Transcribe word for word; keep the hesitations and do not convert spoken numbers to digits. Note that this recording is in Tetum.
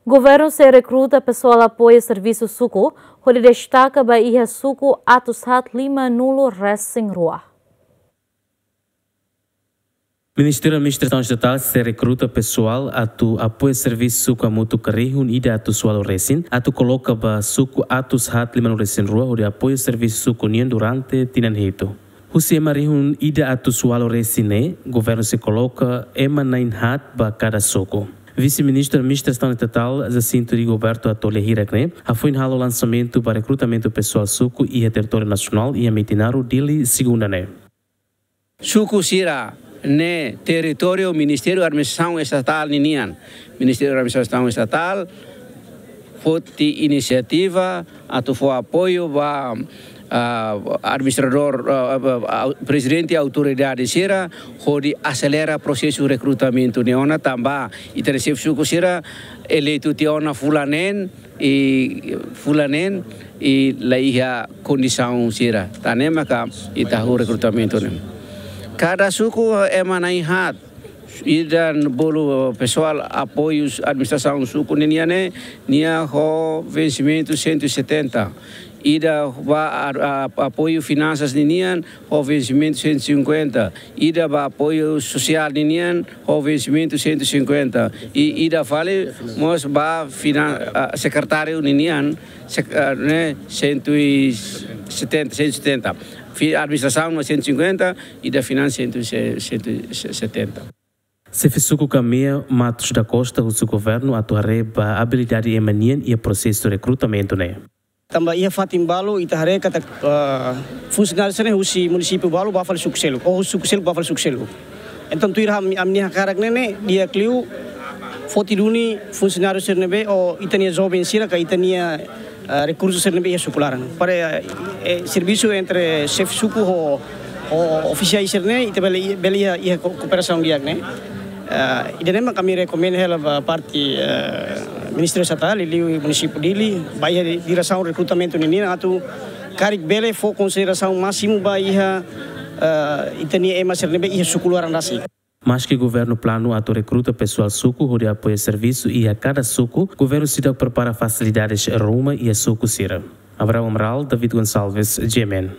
Governu sei rekruta pesoál apoiu servisu suku, hodi destaka ba iha suku atus haat lima-nulu resin rua. Ministériu Administrasaun Estatál sei rekruta pesoál atu apoiu servisu suku hamutuk rihun ida atus ualu resin, atu koloka ba suku atus haat lima-nulu resin rua hodi apoiu servisu suku nian durante tinan hitu. Husi ema rihun ida atus ualu resin ne'e, governu sei koloka ema na'in haat ba kada suku. Vise-Ministru Administrasaun Estatál Jacinto Rigoberto Attolia hirak ne'e hafoin halo lansamentu ba rekrutamentu pesoál suku iha territóriu nasionál iha Metinaro, Dili, segunda ne'e. Suku sira ne'e territóriu Ministériu Administrasaun Estatál ninian. Ministériu Administrasaun Estatál foti inisiativa atu fó apoiu ba, ah, administradór, ah, ah, ah, prezidente autoridade sira, hodi aselera prosesu rekrutamentu ne'e ona tanba ita-nia xefe suku sira eleitu tiha ona fulan neen, i fulan neen, i la iha kondisaun sira. Tan ne'e maka ita halo rekrutamentu ne'e. Kada suku ema na'in haat, ida bolu pesoál apoiu administrasaun suku ninian ne'e, nia ho vensimentu cento e setenta. Ida ba a, a, apoiu finansas ninian ho vensimentu cento e cinquenta. Ida ba apoiu sosiál ninian ho vensimentu cento e cinquenta. I ida fali mós ba finan-, ah, sekretáriu ninian, sek-, ah, ne'e, cento e setenta, cento e setenta. Fi-, administrasaun no cento e cinquenta, ida finansas cento, cento e setenta. Xefe suku Kamea, Matos da Costa, husu governu atu haree ba abilidade ema nian iha prosesu rekrutamentu ne'e. Tanba iha fatin balu ita haree katak, ah, funsionáriu sira-ne'e husi munisípiu balu ba fali suku seluk, ou husi suku seluk ba fali suku seluk. Entaun tuir ami-, ami-nia hakarak ne'e, di'ak liu foti duni funsionáriu sira ne'ebé, ou ita-nia joven sira ka ita-nia, ah, rekursu sira ne'ebé iha suku laran. Para, eh, servisu entre xefe suku ho, ho ofisiais sira-ne'e, ita bele, bele iha, iha ko-, kooperasaun di'ak ne'e. Ah, ida-ne'e mak ami rekomenda hela ba parte, eh, Ministériu Estatál, liuliu munisípiu Dili, ba iha di-, diresaun rekrutamentu ninian atu karik bele fó konsiderasaun másimu ba iha, eh, ita-nia ema sira ne'ebé iha suku laran rasik. Maski governu planu atu rekruta pesoál suku hodi apoiu servisu iha kada suku, governu seidauk prepara fasilidades ruma iha suku sira. Abraham Amaral, David Gonçalves, G M N.